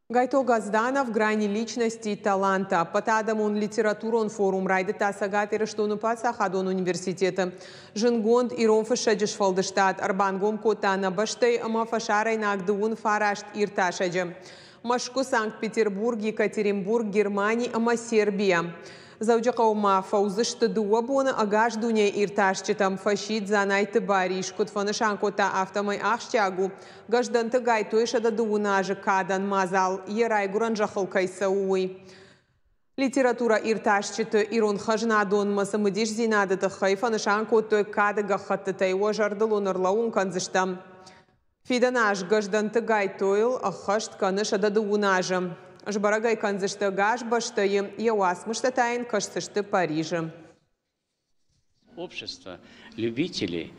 Гайто Газданов «Грани личности и таланта». Ӕппӕтадӕмон литературон форум райдыдта Цӕгат Ирыстоны паддзахадон университеты. Зындгонд ирон фыссӕджы сфӕлдыстад ӕрбангом кодта нӕ бӕстӕйы ӕмӕ фӕсарӕйнаг 39 иртасӕджы. Мӕскуы, Санкт-Петербург, Екатеринбург, Германи ӕмӕ Сербийӕ. Дзӕуджыхъӕуы ма фӕуыдзысты 2 боны. Ӕгас дунейы иртасджытӕм фӕсидт Дзанайты Барис. Куыд фӕнысан кодта, афтӕмӕй ахсджиаг у, Гӕздӕнты Гайтойы 120 азы кадӕн мадзал йӕ райгуырӕн зӕххыл кӕй цӕуы, уый. Литературӕ иртасджыты ирон хӕзнадонмӕ цымыдисдзинады тыххӕй фӕнысан кодтой кады гӕххӕттытӕй. Уӕ зӕрдыл уын ӕрлӕууын кӕндзыстӕм. Фидӕн аз Гӕздӕнты Гайтойыл ӕххӕст кӕны 120 азы. Сбӕрӕг ӕй кӕндзысты ӕгас бӕстӕйы, йӕ уацмыстӕ та йын кӕсдзысты Парижы. Общество любителей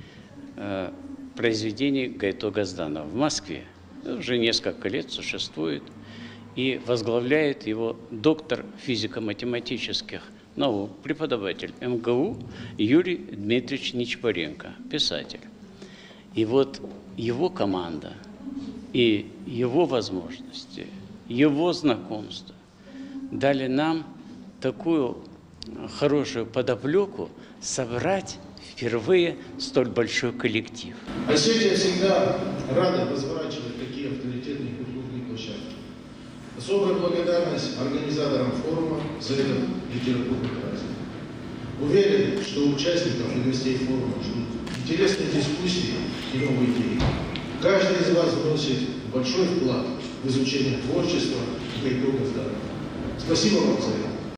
произведений Гайто Газданова в Москве уже несколько лет существует, и возглавляет его доктор физико-математических наук, преподаватель МГУ Юрий Дмитриевич Нечипоренко, писатель. И вот его команда и его возможности, его знакомства дали нам такую хорошую подоплеку собрать впервые столь большой коллектив. Осетия всегда рада разворачивать такие авторитетные культурные площадки. Особая благодарность организаторам форума за этот литературный праздник. Уверен, что участников и гостей форума ждут интересные дискуссии и новые идеи. Каждый из вас вносит большой вклад в изучение творчества Гайто Газданова. Спасибо вам за это.